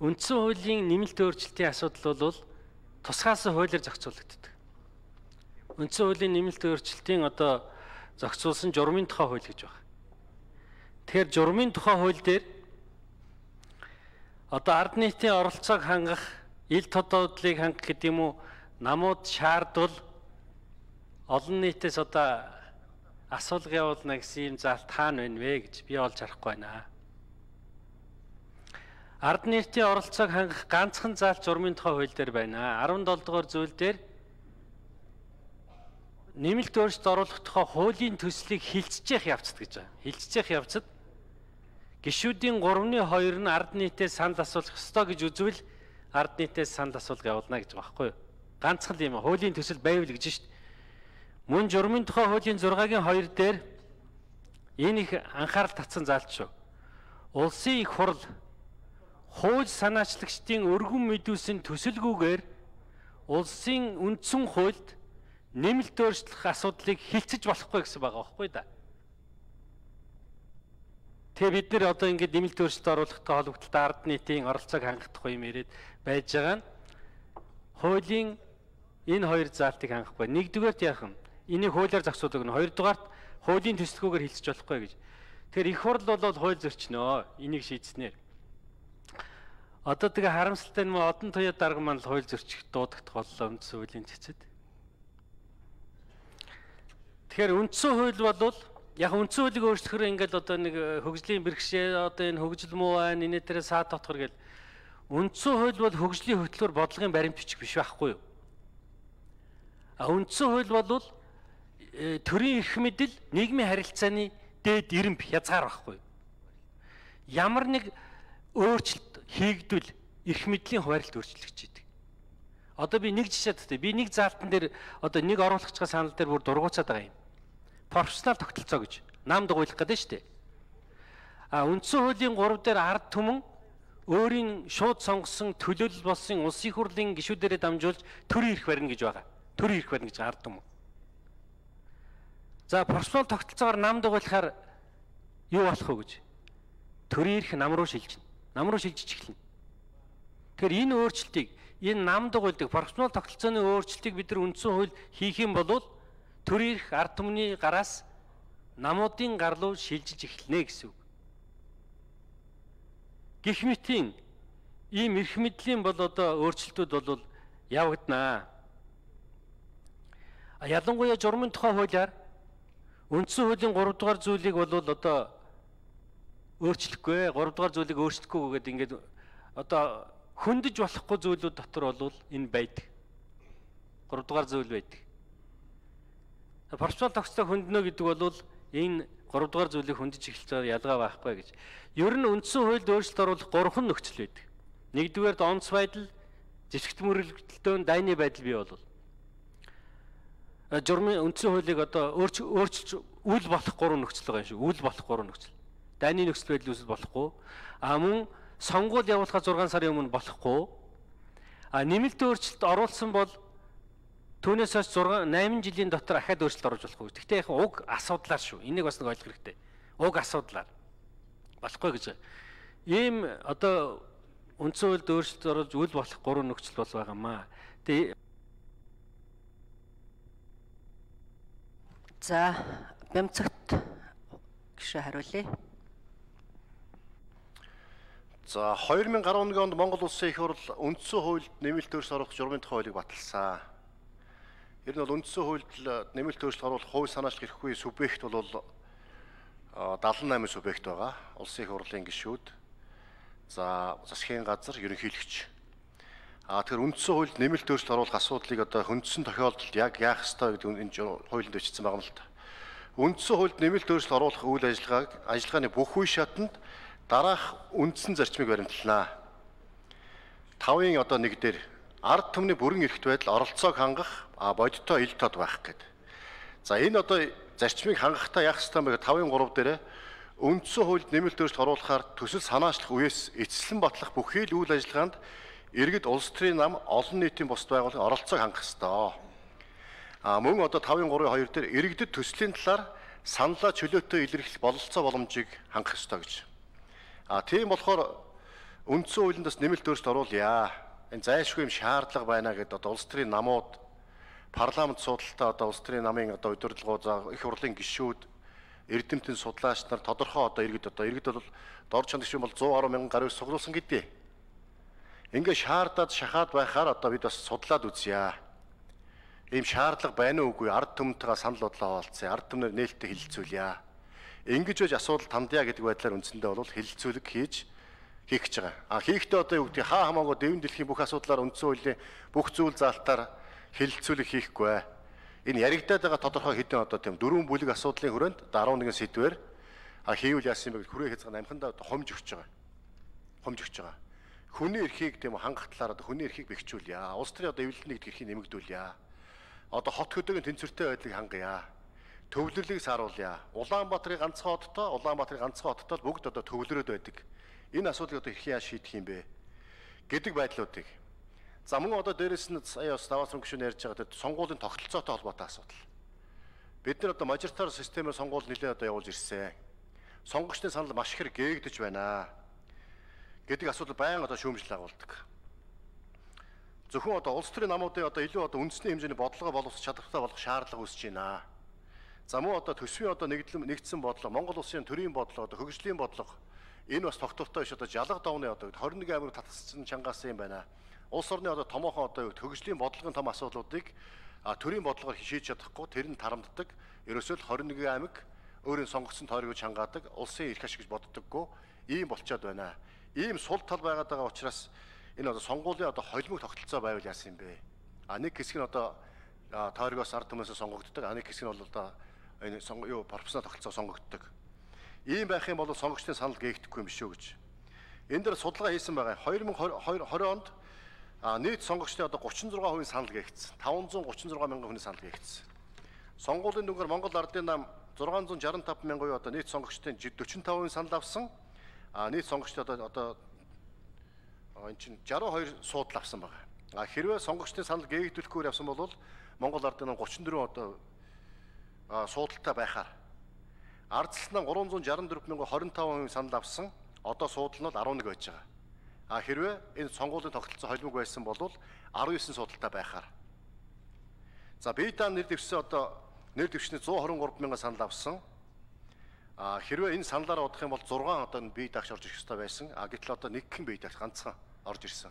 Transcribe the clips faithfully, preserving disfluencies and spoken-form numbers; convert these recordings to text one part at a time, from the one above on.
Үндсэн хуулийн нэмэлт өөрчлөлтийн асуудал бол тусгаас хуулиар зохицуулагддаг. Үндсэн хуулийн нэмэлт өөрчлөлтийн одоо зохицуулсан журмын тухай хууль гэж байна. Тэгэхээр журмын тухай хууль дээр одоо ард нийтийн оролцоог хангах, ил тодуудлыг хангах гэдэг юм уу, намууд шаардвал олон нийтээс одоо асуулга явуулна гэсэн юм заалт хаана байна вэ гэж би олж харахгүй байна. Ард нийтийн оролцоог хангах ганцхан заалт журмын тухай хууль дээр байна. арван долоо дугаар зүйл дээр нэмэлт өөрчлөлт оруулах тухай хуулийн төслийг хилцчих явцад гэж байна. Хилцчих явцад гишүүдийн гуравны хоёр нь ард нийтээс санал асуулах ёстой гэж үзвэл ард нийтээс санал асуулга явуулна гэж байгаа байхгүй юу? Ганцхан юм хуулийн төсөл байвал гэж шүү дээ. Мөн журмын тухай хуулийн зургагийн хоёр дээр энэ их анхаарал татсан заалт шүү. Улсын их хурл хууль санаачлагчдын өргөн мэдүүлсэн төсөлгүйгээр улсын үндсэн хуульд нэмэлт өөрчлөх асуудлыг хилцэж болохгүй гэсэн байгаа байхгүй да. Тэгээ бид нэр одоо ингээд нэмэлт өөрчлөлт оруулахтай холбогдолтой ард нийтийн оролцоог хангах юм яриад байж байгаа нь хуулийн энэ хоёр заалтыг хангахгүй. Нэгдүгээрт яах вэ? Энийг хуулиар зохицуулдаг нь, хоёрдугаарт хуулийн төслгүйгээр хилцэж болохгүй гэж. Тэгэхээр их хурл бол хууль зөрчнөө. Энийг шийдснээр. Одоо тэгээ харамсалтай нь одон туяа дарга маань хууль зөрчих дуудагдах боллоо үндсэн хуулийн цэцэд. Тэгэхээр үндсэн хууль бол яг үндсэн хуулийг өөрчлөхөөр ингээд одоо нэг хөгжлийн бэрхшээ одоо энэ хөгжил муу байна, энэ дээр саад татхар гэл үндсэн хууль бол хөгжлийн хөтлөөр бодлогын баримт бичиг биш байхгүй юу? А үндсэн хууль бол төрийн эрх мэдэл, нийгмийн харилцааны дээд ирэмб хязгаар байхгүй юу? Ямар нэг өөрчлөлт хийгдвэл эрх мэдлийн хуваарлт өөрчлөгдөж идэг. Одоо би нэг жишээ татъя. Би нэг заалтан дээр одоо нэг оруулагчгаа санал дээр бүр дургуцаад байгаа юм. Профессионал тогтолцоо гэж нам дугуйлах гэдэг нь шүү дээ. А үндсэн хуулийн гурав дээр ард түмэн өөрийн шууд сонгосон төлөөлөл болсон улсын хурлын гишүүдээрээ дамжуулж төрийн эрх барина гэж байгаа. Төрийн эрх барина гэж ард түмэн. За профессионал тогтолцоогоор нам дугуйлахаар юу болох вэ гэж? Төрийн эрх нам руу шилжинэ. Нам руу шилжиж эхэлнэ. Тэгэхээр энэ өөрчлөлтийг, энэ нам дугуйлдаг профессионал тогтолцооны өөрчлөлтийг бид нар үндсэн хууль хийх юм бол төрийн эрх ард түмний гараас намуудын гар руу шилжиж эхэлнэ гэсэн үг. Гэх мэтийн ийм эрх мэдлийн бол одоо өөрчлөлтүүд бол явагдана. А ялангуяа журмын тухай хуулиар үндсэн хуулийн гурав дугаар зүйлийг бол одоо өөрчлөхгүй, гурав дугаар зүйлийг өөрчлөхгүй гэдэг ингээд одоо хөндөж болохгүй зүйлүүд дотор бол энэ байдаг. гурав дугаар зүйл байдаг. Профессионал тогтолцоо хөндлөнө гэдэг бол энэ гурав дугаар зүйлийг хөндөж эхэлж ялгаа байхгүй гэж. Ер нь үндсэн хуульд өөрчлөлт оруулах гурван нөхцөл байдаг. Нэгдүгээр онц байдал, зэвсэгт мөрөлдөлтөөн дайны байдал бий болвол журмын үндсэн хуулийг одоо өөрчилж үл болох гурван нөхцөл байгаа юм шиг. Үл болох гурван нөхцөл. Дайны нөхцөл байдал үүсэл болохгүй. А мөн сонгуул явуулахаа зургаан сарын өмнө болохгүй. А нэмэлт өөрчлөлт оруулсан бол түүнээс хойш зургаан найман жилийн дотор ахаад өөрчлөлт оруулж болохгүй. Гэхдээ яг уг асуудлаар шүү. Энийг бас нэг ойлгох хэрэгтэй. Уг асуудлаар болохгүй гэж. Ийм одоо үндсэн хуульд өөрчлөлт оруулж үл болох гурван нөхцөл бол байгаамаа. Тэгээ за бямцагт гişэ хариулъя. За две тысячи десять онд Монгол Улсын их хурл үндсэн хуульд нэмэлт өөрчлөлт оруулах журмын тухай хуулийг баталсан. Ер нь бол үндсэн хуульд нэмэлт өөрчлөлт оруулах хууль санаачлах эрхгүй субъект бол дагалан найман субъект байгаа. Улсын их хурлын гишүүд, за засгийн газар, ерөнхийлөгч. А тэгэхээр үндсэн хуульд нэмэлт өөрчлөлт оруулах асуудлыг одоо хөндсөн тохиолдолд яг яах ёстой гэдэг энэ хуулинд бичсэн байгаа юм л та. Үндсэн хуульд нэмэлт өөрчлөлт оруулах үйл ажиллагааг ажиллагааны бүх үе шатанд дараах үндсэн зарчмыг баримтлана. тавын одоо нэг дээр ард түмний бүрэн эрхт байдал оролцоог хангах а бодиттой ил тод байх гэдэг. За энэ одоо зарчмыг хангахтаа яах ёстой юм бэ? тавын гурав дээр үндсэн хуульд нэмэлт өөрчлөлт оруулахаар төсөл санаачлах үеэс эцэслэн батлах бүхий л үйл ажиллагаанд иргэд улс төрийн нам олон нийтийн бус байгууллагын оролцоог хангах ёстой. А мөн одоо тавын гурвын хоёр дээр иргэдэд төслийн талаар саналаа чөлөөтэй илэрхийлэх бололцоо боломжийг хангах ёстой гэж. А тийм болохоор үндсэн хуулиндас нэмэлт өөрчлөлт оруулъя. Энэ зайлшгүй юм шаардлага байна гэдээ одоо улс төрийн намууд парламент судалтаа одоо улс төрийн намын одоо удирдлагууд их хурлын гишүүд эрдэмтэн судлаач нар тодорхой одоо иргэд одоо иргэд бол дор чанар гишүүн бол зуун гаруй мянган гаруй суглуулсан гэдээ. Ингээ шаардаад шахаад байхаар одоо бид бас судлаад үзье. Ийм шаардлага байна уу үгүй ард түмнтэйгээ санал бодлоо хаалцъя. Ард түмнэр нээлттэй хэлэлцүүлье. Ингэж байж асуудал тандъя гэдэг байдлаар үндсэндээ бол хэлэлцүүлэг хийж хийх гэж байгаа. А хийхдээ одоо юу гэдэг хаа хамаагүй дэвэн дэлхийн бүх асуудлаар үндсэн хуулийн бүх зүйл заалтаар хэлэлцүүлэг хийхгүй. Энэ яригдаад байгаа тодорхой хэдэн одоо тийм дөрвөн бүлэг асуудлын хүрээнд дөрвөн нэгэн сэдвээр а хийвэл яасан юм бэ гэж хүрээ хэзээ амхандаа хомж өгч байгаа. Хомж өгч байгаа. Хүний эрхийг тийм хангах талаар одоо хүний эрхийг бэхжүүлье. Улс төрийн одоо эвлэлний гэдэг эрхийг нэмэгдүүлье. Одоо хот хөдөөгийн тэнцвэртэй байдлыг хангая. Төвлөрлийг сааруулъя. Улаанбаатарын ганцхан хоттой, Улаанбаатарын ганцхан хоттой бүгд одоо төвлөрөөд байдаг. Энэ асуудлыг одоо хэрхэн яаж шийдэх юм бэ гэдэг байдлуудыг. За мөн одоо дээрэс нь сая бас даваасрын гишүүн ярьж байгаа тэр сонгуулийн тогтолцоотой холбоотой асуудал. Бид нар одоо мажоритар системээр сонгуул нэлээд одоо явуулж ирсэн. Сонгогчдын санал маш их гээгдэж байна гэдэг асуудал байнга одоо шүүмжлэл агуулдаг. Зөвхөн одоо улс төрийн намуудын одоо илүү одоо үндэсний хэмжээний бодлогоо боловсрох чадвартай болох шаардлага үүсэж байна. За мөн одоо төсвийн одоо нэгдлэн нэгдсэн бодлого, Монгол улсын төрийн бодлого, одоо хөгжлийн бодлого энэ бас тогтвортой биш одоо жалга давны одоо хорин нэг аймаг татсан чангаас юм байна. Улс орны одоо томоохон одоо хөгжлийн бодлогын том асуудлуудыг төрийн бодлогоор шийдэж чадахгүй тэр нь тарамддаг. Ерөөсөө л хорин нэг аймаг өөрийн сонгогдсон тойрог хангаадаг, улсын эрх ашиг гэж боддоггүй ийм болчиход байна. Ийм сул тал байгаад байгаа учраас энэ одоо сонгуулийн одоо холимог тогтолцоо байвал яасан юм бэ? А нэг хэсэг нь одоо тойрогоос ард түмнээс сонгогддог, а нэг хэсэг нь бол одоо энэ юу пропорционал тогтолцоо сонгогддог. Ийм байх юм бол сонгогчдын санал гээгдэхгүй юм шүү гэж. Энэ дээр судалгаа хийсэн байгаа. две тысячи двадцать онд нийт сонгогчдын одоо тридцать шесть хувийн санал гээгдсэн. пятьсот тридцать шесть мянган хүний санал гээгдсэн. Сонгуулийн дүнгээр Монгол Ардын нам шесть шестьдесят пять мянган уу одоо нийт сонгогчдын forty five хувийн санал авсан. А нийт сонгогчдод одоо одоо энэ чинь sixty-two суудл авсан байгаа. А хэрвээ сонгогчдын санал гээгдүүлэхгүй явсан бол Монгол Ардын нам thirty-four одоо суудалтай байхаар ардчлалнаа three sixty four мянган twenty-five хувийн санал авсан. Одоо суудал нь бол eleven байж байгаа. А хэрвээ энэ сонгуулийн тогтолцоо холимог байсан бол nineteen судалтай байхаар. За Бейдан нэр дэвшсэн одоо нэр дэвшний one twenty-three мянган санал авсан. А хэрвээ энэ саналаараа удах юм бол six одоо бие даагч орж ирэх ёстой байсан. А гэтэл одоо нэг хэн бие даагч ганцхан орж ирсэн.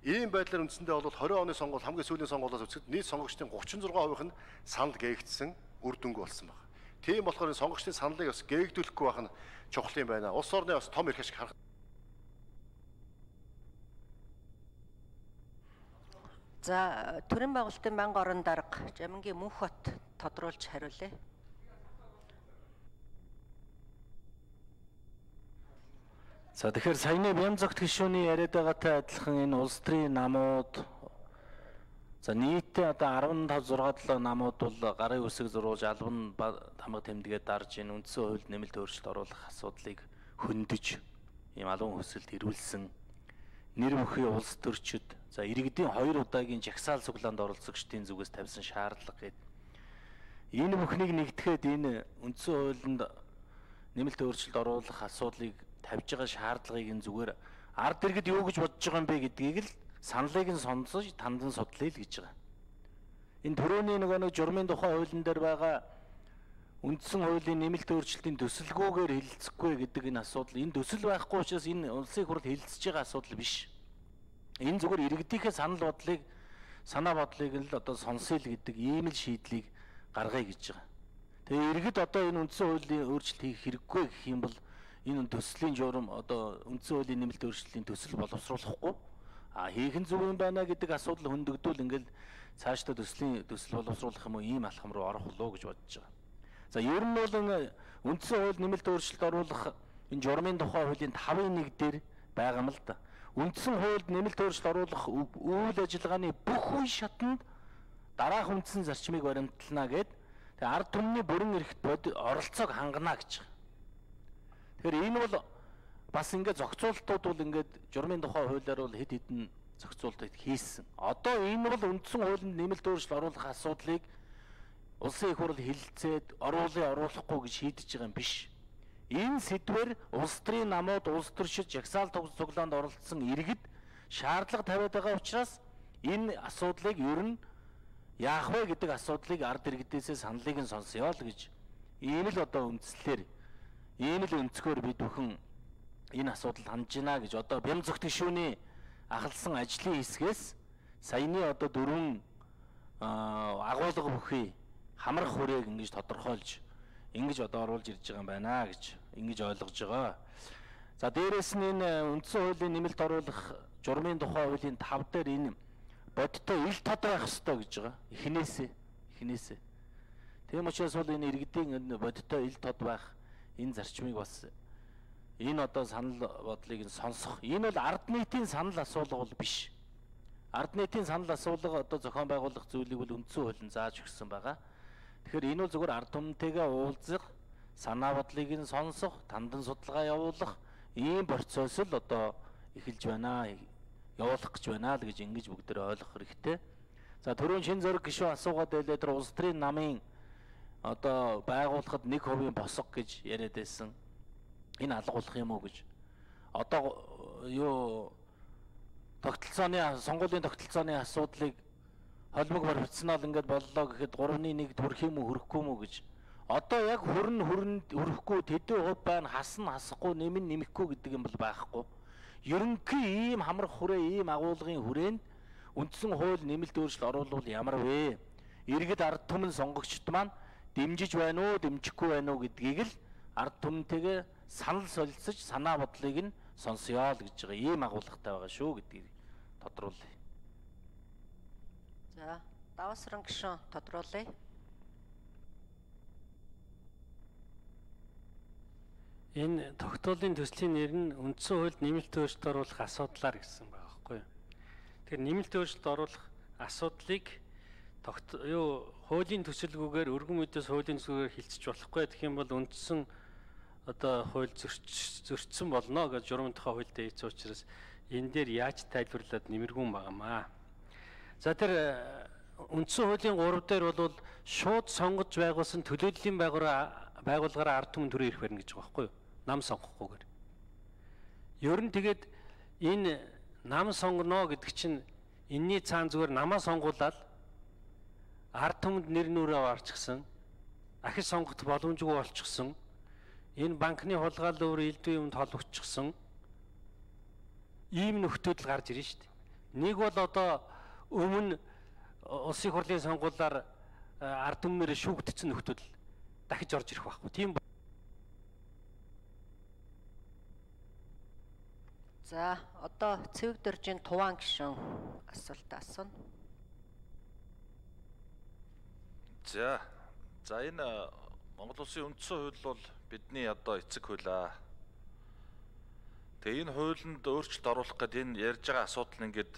Ийм байдлаар үндсэндээ бол twenty оны сонгуул хамгийн сүүлийн сонгуулиас үзэхэд нийт сонгогчдын thirty-six хувийнх нь санал гээгдсэн үр дүнгүй болсон байна. Тийм болохоор энэ сонгогчдын саналыг бас гээгдүүлэхгүй байх нь чухал юм байна. Улс орны бас том эрх ашиг харах. За төрийн байгуулалтын Банга орон дарга Жамингийн Мөнх бат тодруулж хариулъя. За тэгэхээр саяны Бямзагт гишүүний яриад байгаатай адилхан энэ улс төрийн намууд за нийтээ одоо fifteen six намууд бол гарын үсэг зурулж албан тамга тэмдэгээ дарж энэ үндсэн хуульд нэмэлт өөрчлөлт оруулах асуудлыг хөндөж ийм албан хөсөлд ирүүлсэн нэр бүхий улс төрчид за иргэдийн хоёр удаагийн жагсаал цуглаанд оролцогчдын зүгээс тавьсан шаардлага гээд энэ бүхнийг нэгтгэхэд энэ үндсэн хуулинд нэмэлт өөрчлөлт оруулах асуудлыг тавьж байгаа шаардлагыг энэ зүгээр ард иргэд юу гэж бодож байгаа юм бэ гэдгийг л саналыг нь сонсож тандан судлаа л гэж байгаа. Энэ төрөний нөгөө нэг журмын тухай хуулийн дээр байгаа үндсэн хуулийн нэмэлт өөрчлөлтийн төсөлгүйгээр хэлэлцэхгүй гэдэг энэ асуудал энэ төсөл байхгүй учраас энэ улсын хурл хэлэлцэж байгаа асуудал биш. Энэ зүгээр иргэдийнхээ санал бодлыг санаа бодлыг л одоо сонсъё л гэдэг ийм л шийдлийг гаргая гэж байгаа. Тэгээ иргэд одоо энэ үндсэн хуулийн өөрчлөлт хийх хэрэггүй гэх юм бол энэ төслийн журам одоо үндсэн хуулийн нэмэлт өөрчлөлтийн төсөл боловсруулахгүй а хийх нь зөв юм байна гэдэг асуудал хөндөгдүүл ингээл цаашдаа төслийн төсөл боловсруулах юм уу ийм алхам руу орох болоо гэж бодож байгаа. За ер нь бол үндсэн хууль нэмэлт өөрчлөлт оруулах энэ журмын тухай хуулийн five one дээр байгаа юм л да. Үндсэн хуульд нэмэлт өөрчлөлт оруулах үйл ажиллагааны бүх үе шатанд дараах үндсэн зарчмыг баримтлана гэд тэгээ ард түмний бүрэн эрхт оролцоог хангана гэж байгаа. Тэгэхээр энэ бол бас ингээд зохицуултууд бол ингээд журмын тухай хуулиар бол хэд хэдэн зохицуултыг хийсэн. Одоо энэ бол үндсэн хуулинд нэмэлт өөрчлөлт оруулах асуудлыг улсын их хурл хэлэлцээд оруулъя оруулахгүй гэж шийдэж байгаа юм биш. Энэ сэдвэр улс төрийн намууд улс төршид жагсаал цуглаанд оролцсон иргэд шаардлага тавиад байгаа учраас энэ асуудлыг ер нь яах вэ гэдэг асуудлыг ард иргэдээсээ саналыг нь сонсъё л гэж ийм л одоо үндслэлээр ийм л өнцгөр бид бүхэн энэ асуудалд хандж байна гэж одоо Бямзөх гишүүний ахалсан ажлын хэсгээс саяны одоо дөрвөн агуулга бүхий хамрах хүрээг ингэж тодорхойлж ингэж одоо оруулж ирж байгаа юм байна гэж ингэж ойлгож байгаа. За дээрэс нь энэ үндсэн хуулийн нэмэлт оруулах журмын тухай хуулийн тав дээр энэ бодиттой ил тод байх ёстой гэж байгаа. Эхнээсээ эхнээсээ. Тийм учраас бол энэ иргэдийн энэ бодиттой ил тод байх энэ зарчмыг бас энэ одоо санал бодлыг нь сонсох. Энэ бол ард нийтийн санал асуулга бол биш. Ард нийтийн санал асуулга одоо зохион байгуулах зүйлийг бол үндсэн хууль нь зааж өгсөн байгаа. Тэгэхээр энэ бол зөвхөн ард түмэнтэйгээ уулзах, санаа бодлыг нь сонсох, тандан судалгаа явуулах ийм процесс л одоо эхэлж байна, явуулах гэж байна л гэж ингэж бүгдээ ойлгох хэрэгтэй. За түрүүн шин зөрөг гишүүн асуугаад байлаа тэр улс төрийн намын одоо байгуулахад нэг хувийн босго гэж яриад байсан. Энэ алгуулах юм уу гэж. Одоо юу тогтолцооны сонгуулийн тогтолцооны асуудлыг холбог баримтснаа л ингээд боллоо гэхэд гуравны нэг хүрэх юм уу хүрэхгүй юм уу гэж. Одоо яг хүрн хүрн хүрэхгүй тэдэн хувь байна хасна хасахгүй нэмэн нэмэхгүй гэдэг юм бол байхгүй. Ерөнхий ийм хамрах хүрээ ийм агуулгын хүрээнд үндсэн хууль нэмэлт өөрчлөлт оруулвал ямар вэ? Иргэд ард түмэн сонгогчд маань дэмжиж байна уу, дэмжихгүй байна уу гэдгийг л ард түмэнтэйгээ санал солилцож санаа бодлыг нь сонсъё л гэж байгаа. Ийм агуулгатай байгаа шүү гэдгийг тодруулъя. За, Давасран гишүүн тодруулъя. Энэ тогтоолын төслийн нэр нь үндсэн хуульд нэмэлт өөрчлөлт оруулах асуудлаар гэсэн байгаа байхгүй юу. Тэгэхээр нэмэлт өөрчлөлт оруулах асуудлыг тогт юу хуулийн төсөлгүйгээр өргөн мэдээс хуулийн төсөлгүйгээр хилцэж болохгүй гэх юм бол үндсэн одоо хууль зөрчсөн болно гэж журмын тухай хуульд ийц учраас энэ дээр яаж тайлбарлаад нэмэргүүн байгаамаа. За тэр үндсэн хуулийн гурав дээр бол шууд сонгож байгуулсан төлөөллийн байгууллагаараа ард түмэн төрөө ирэх барина гэж байгаа байхгүй юу? Нам сонгохгүйгээр. Ер нь тэгээд энэ нам сонгоно гэдэг чинь энэний цаан зүгээр намаа сонгуулаад ард түмэнд нэр нүрээ орчихсон, ахиж сонгох боломжгүй болчихсон, энэ банкны хулгайлал өөр элдв юмд холбогдчихсон ийм нөхцөл гарч ирнэ шүү дээ. Нэг бол одоо өмнө улсын хурлын сонгуулиар ард түмнээр шүүгдсэн нөхцөл дахиж орж ирэх байхгүй. Тийм. За, одоо Цэвэг дөржийн Туваан гишүүн асуулт асууна. За, за энэ Монгол Улсын үндсэн хууль бол бидний одоо эцэг хууль аа. Тэгээ энэ хуулинд өөрчлөлт оруулах гэдэг энэ ярьж байгаа асуудал нь ингээд